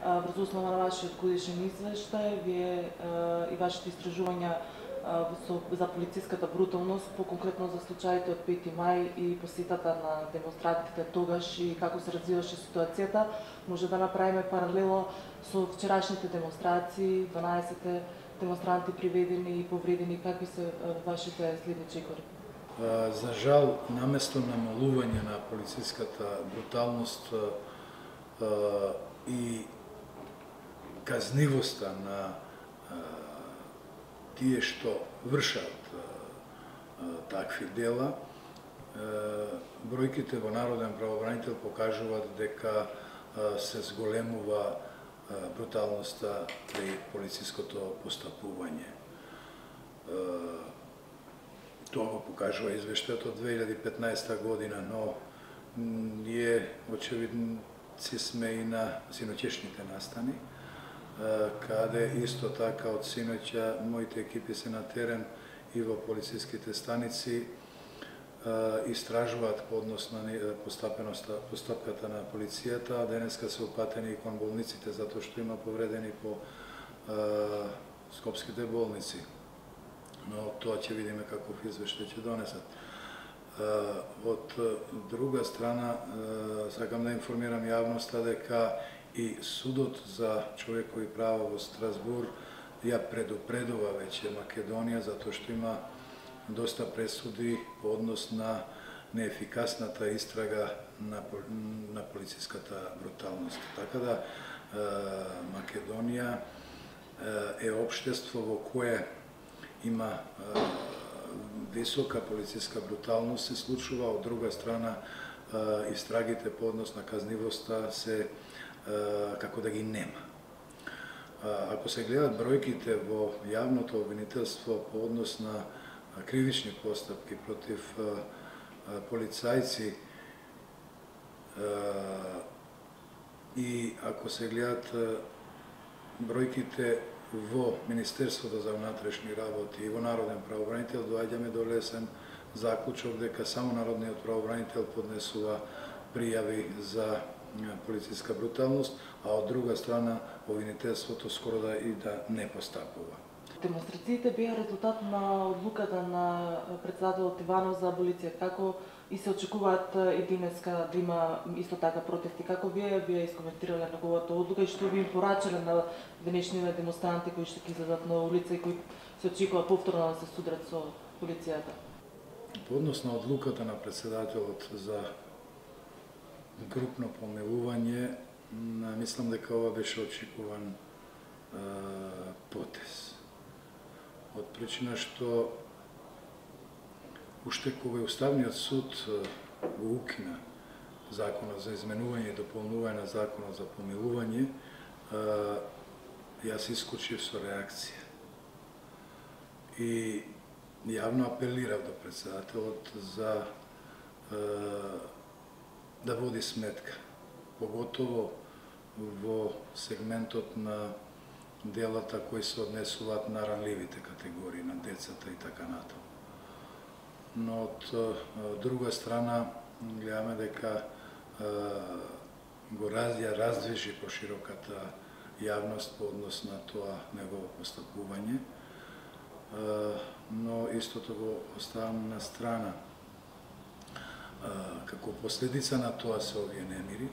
врз основа на вашиот годишен извештај, вие и вашите истражувања за полициската бруталност, по-конкретно за случаите од 5 мај и посетата на демонстрантите тогаш и како се развиваше ситуацијата, може да направиме паралело со вчерашните демонстрации, 12 демонстранти приведени и повредени. Какви се вашите следни чекори? За жал, наместо намалување на полициската бруталност и казнивоста на тие што вршат такви дела, бројките во Народен правобранител покажуваат дека се зголемува бруталноста при полициското постапување. Тоа го покажува извештајот од 2015 година, но ние очевидци сме и на синоќешните настани, каде исто така од синоќа моите екипи се на терен и во полициските станици истражуваат по однос на постапката на полицијата, а денеска се упатени и кон болниците затоа што има повредени по скопските болници. Но тоа ќе видиме каков извештај ќе донесат. Од друга страна, сакам да информирам јавноста дека и Судот за човекови права во Страсбур ја предупредува веќе Македонија затоа што има доста пресуди по однос на неефикасната истрага на полициската бруталност. Така да Македонија е општество во кое има висока полициска бруталност се случува, од друга страна истрагите по однос на казнивоста се како да ги нема. Ако се гледат бројките во јавното обвинителство по однос на кривични постапки против полицајци и ако се гледат бројките во Министерството за внатрешни работи и во Народен правобранител, доаѓаме до лесен заклучок дека само Народниот правобранител поднесува пријави за полициска бруталност, а од друга страна обвинителството скоро да и да не постапува. Демонстрациите беа резултат на одлуката на председателот Иванов за аболиција. Како и се очекуваат и денеска да има исто така протести? Како вие искоментирале неговата одлука и што би им порачале на денешните демонстранти кои што ќе излезат на улица и кои се очекува повторно да се судрат со полицијата? По однос на одлуката на председателот за групно помилување, мислам дека ова беше очекуван потез. Од причина што уште кога Уставниот суд го укина законот за изменување и дополнување на законот за помилување, јас искочив со реакција. И јавно апелирав до председателот за да води сметка, поготово во сегментот на делата кои се однесуваат на ранливите категории, на децата и така натаму. Но од друга страна, гледаме дека го раздвижи по широката јавност по однос на тоа негово постапување, но истото го оставам на страна. Како последица на тоа се овие немири,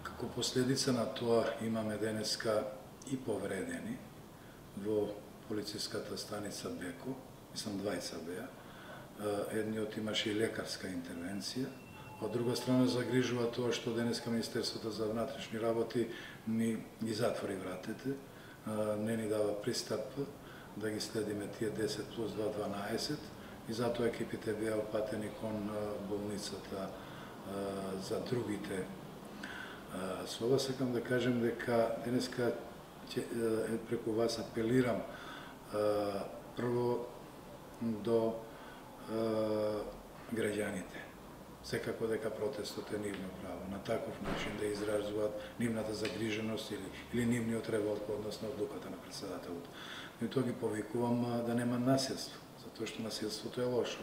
како последица на тоа имаме денеска и повредени во полициската станица Беко, мислам 20 беа, едниот имаше и лекарска интервенција, од друга страна загрижува тоа што денеска Министерството за внатрешни работи ни ги затвори вратите, не ни дава пристап да ги следиме тие 10 плюс 2, 12, и затоа екипите беа опатени кон болницата за другите. Со ова сакам да кажем дека денеска преку вас апелирам прво до граѓаните. Секако дека протестот е нивно право, на таков начин да изразуваат нивната загриженост или нивниот револт по однос на одлуката на председателот. И тоа ги повикувам да нема насилство, затоа што насилството е лошо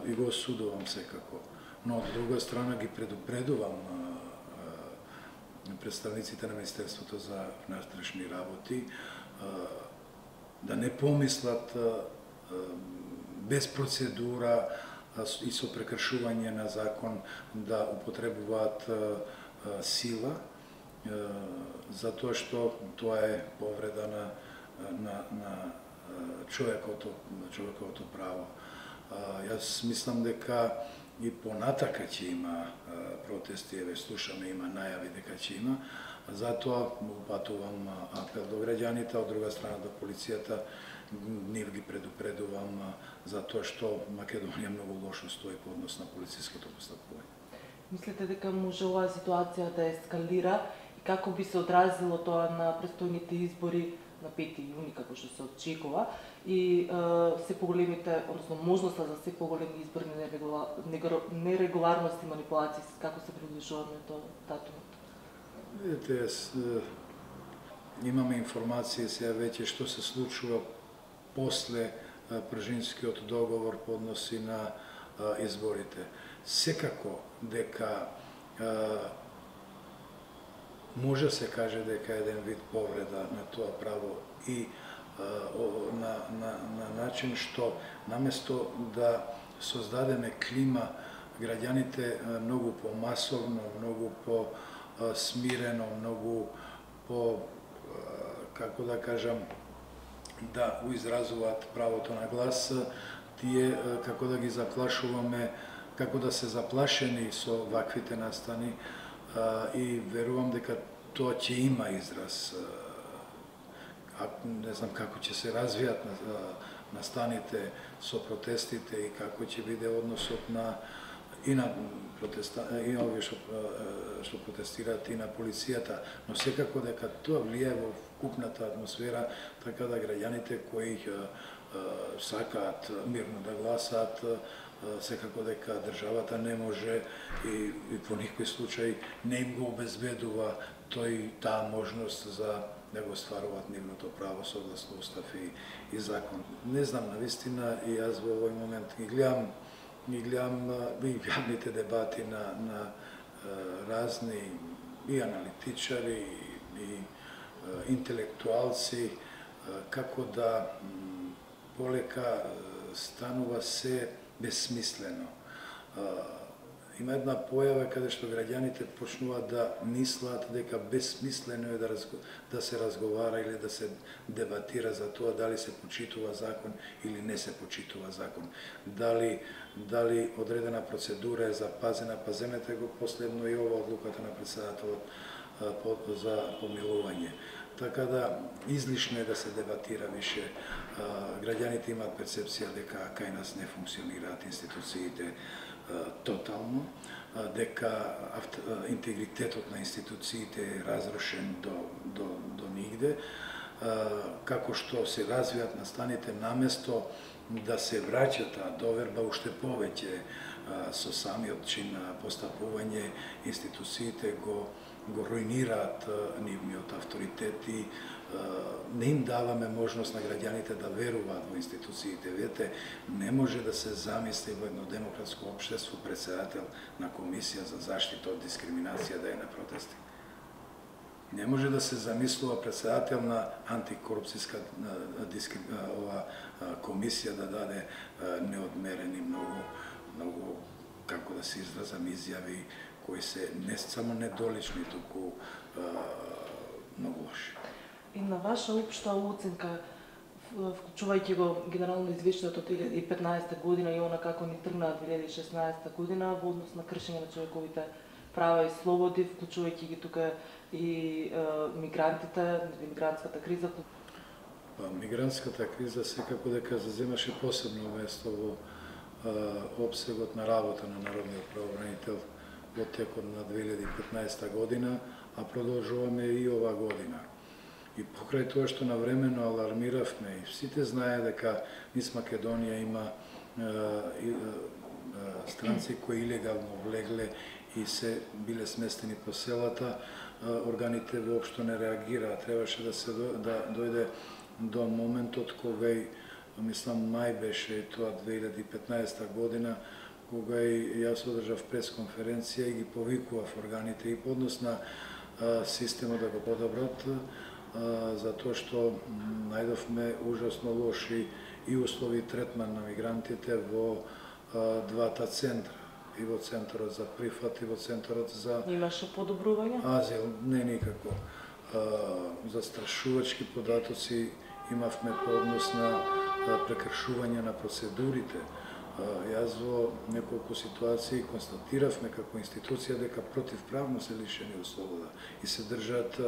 и го осудувам секако. Но од друга страна ги предупредувам представниците на Министерството за внатрешни работи да не помислат без процедура и со прекршување на закон да употребуваат сила, затоа што тоа е повреда на човековото право. Јас мислам дека и понатака ќе има протести, еве слушаме, има најави дека ќе има, затоа упатувам апел до граѓаните, од друга страна до полицијата, нив ги предупредувам за тоа што Македонија многу лошо стои по однос на полициското постапување. Мислите дека може оваа ситуација да ескалира и како би се одразило тоа на престојните избори на 5 јуни, како што се очекува, и се поголемите, односно можноста за се поголеми изборни нерегуларности, манипулации, како се приближуваме до датумот? Видите, имаме информации сега веќе што се случува после Пржинскиот договор по односи на изборите. Секако дека може се каже дека еден вид повреда на тоа право и на начин што наместо да создадеме клима, граѓаните многу помасовно, многу по-смирено, многу по, како да кажам, да го изразуваат правото на глас, тие како да ги заплашуваме, како да се заплашени со ваквите настани, и верувам дека тоа ќе има израз. Не знам како ќе се развијат настаните со протестите и како ќе биде односот и овие што протестираат и на полицијата, но секако дека тоа влијае во вкупната атмосфера, така да граѓаните кои сакаат мирно да гласаат, секако дека државата не може и по никој случај не им го обезбедува таа можност за да го стваруваат нивното право согласно устав и закон. Не знам, навистина, и јас во овој момент ги гледам и јавните дебати на разни и аналитичари и интелектуалци, како да полека станува се безсмислено. Има една појава каде што граѓаните почнуваат да мислат дека безсмислено е да се разговара или да се дебатира за тоа дали се почитува закон или не се почитува закон. Дали одредена процедура е запазена, па земете го последно и ова одлуката на председателот за помилување. Така да излишно е да се дебатира више. Граѓаните имаат перцепција дека кај нас не функционираат институциите тотално, дека интегритетот на институциите е разрушен до нигде, како што се развијат настаните, наместо да се враќа таа доверба уште повеќе со самиот чин на постапување, институциите го руинираат нивниот авторитет и не им даваме можност на граѓаните да веруваат во институциите. Видете, не може да се замисли во едно демократско општество председател на Комисија за заштита од дискриминација да е на протести. Не може да се замислува председател на антикорупцијска комисија да даде неодмерени многу, како да се изразам, изјави кои се не само недолични, туку многу лоши. И на ваша општа оценка, вклучувајќи го генерално извештајот од 2015 година и она како ни тргна 2016 година во однос на кршење на човековите права и слободи, вклучувајќи ги тука и мигрантите, мигрантската криза? Мигрантската криза секако дека заземаше посебно место во опсегот на работа на Народниот правобранител во текот на 2015 година, а продолжуваме и ова година. И покрај тоа што навремено алармиравме, и сите знае дека низ Македонија има странци кои илегално влегле и се биле сместени по селата, органите воопшто не реагираа. Требаше да дојде до моментот кога, мислам, мај беше тоа 2015 година, кога и јас одржав пресконференција и ги повикував органите и по однос на системот да го подобрат, затоа што најдовме ужасно лоши и услови и третман на мигрантите во двата центра, и во центарот за прифат и во центарот за Имаше подобрување? азил, не никако. Застрашувачки податоци имавме по однос на прекршување на процедурите. Јас во неколку ситуации констатиравме како институција дека противправно се лишени од слобода и се држат,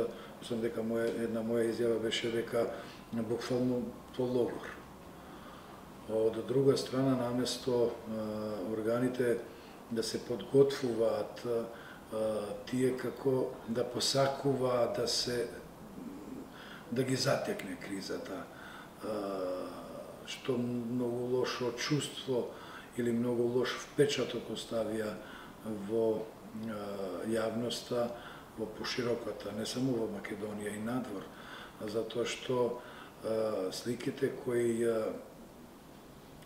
мислам дека една моја изјава беше дека буквално по логор. Од друга страна, наместо органите да се подготвуваат, тие како да посакуваат да ги затекне кризата, што многу лошо чувство или многу лош впечаток оставија во јавноста, во пошироката, не само во Македонија и надвор, затоа што сликите кои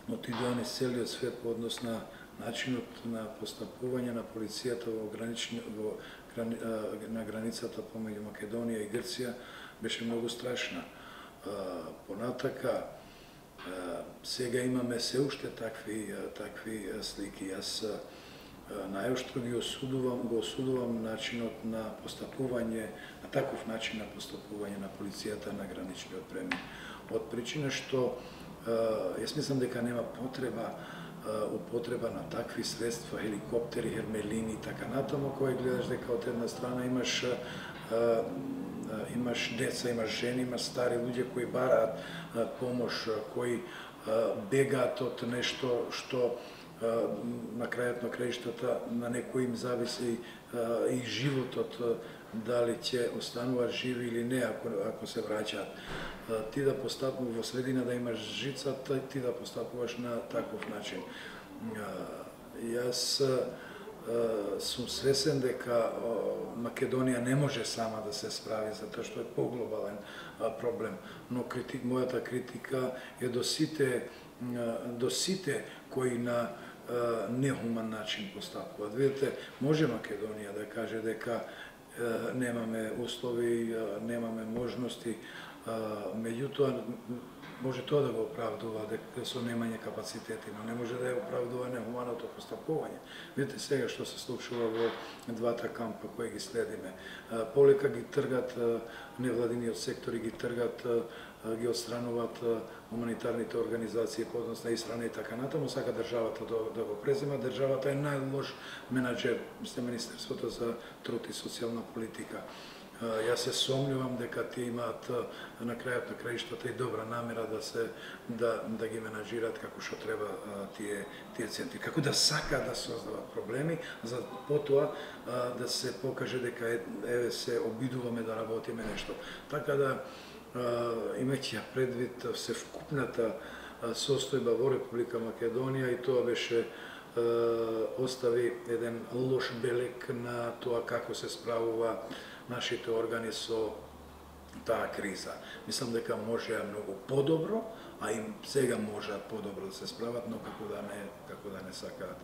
отидоа низ целиот свет по однос на начинот на постапување на полицијата на границата помеѓу Македонија и Грција беше многу страшна. Понатака, сега имаме се уште такви слики. Јас најоштро го осудувам начинот на постапување, на таков начин на постапување на полицијата на граничниот премин. Од причина што јас мислам дека нема употреба на такви средства, хеликоптери, хермелини и така натаму, кој гледаш дека од една страна имаш деца, имаш жени, имаш стари луѓе кои бараат помош, кои бегаат од нешто што на крајот на краиштата на некој им зависи и животот, дали ќе остануваат живи или не ако се враќаат. Ти да постапуваш во средина да имаш жица, ти да постапуваш на таков начин. Јас сум свесен дека Македонија не може сама да се справи, затоа што е поглобален проблем. Но мојата критика е до сите кои на нехуман начин постапуваат. Видите, може Македонија да каже дека немаме услови, немаме можности, меѓутоа може тоа да го оправдува дека со немање капацитети, но не може да ја оправдува нехуманото постапување. Видите сега што се случува во двата кампа кои ги следиме. Полека ги тргат невладиниот сектор и ги тргат, ги отстрануваат хуманитарните организации по однос на Исрана и така натаму, сака државата да го презема. Државата е најлош менаџер, Министерството за труд и социјална политика. Јас се сомнувам дека тие имаат на крајот на краиштата и добра намера да ги менаџираат како што треба тие центри. Како да сакаат да создават проблеми, за потоа да се покаже дека еве се обидуваме да работиме нешто. Така да, имајќи предвид севкупната состојба во Република Македонија, и тоа беше остави еден лош белег на тоа како се справува нашите органи со таа криза. Мислам дека можеа многу подобро, а и сега можеат подобро да се справат, но како да не сакаат.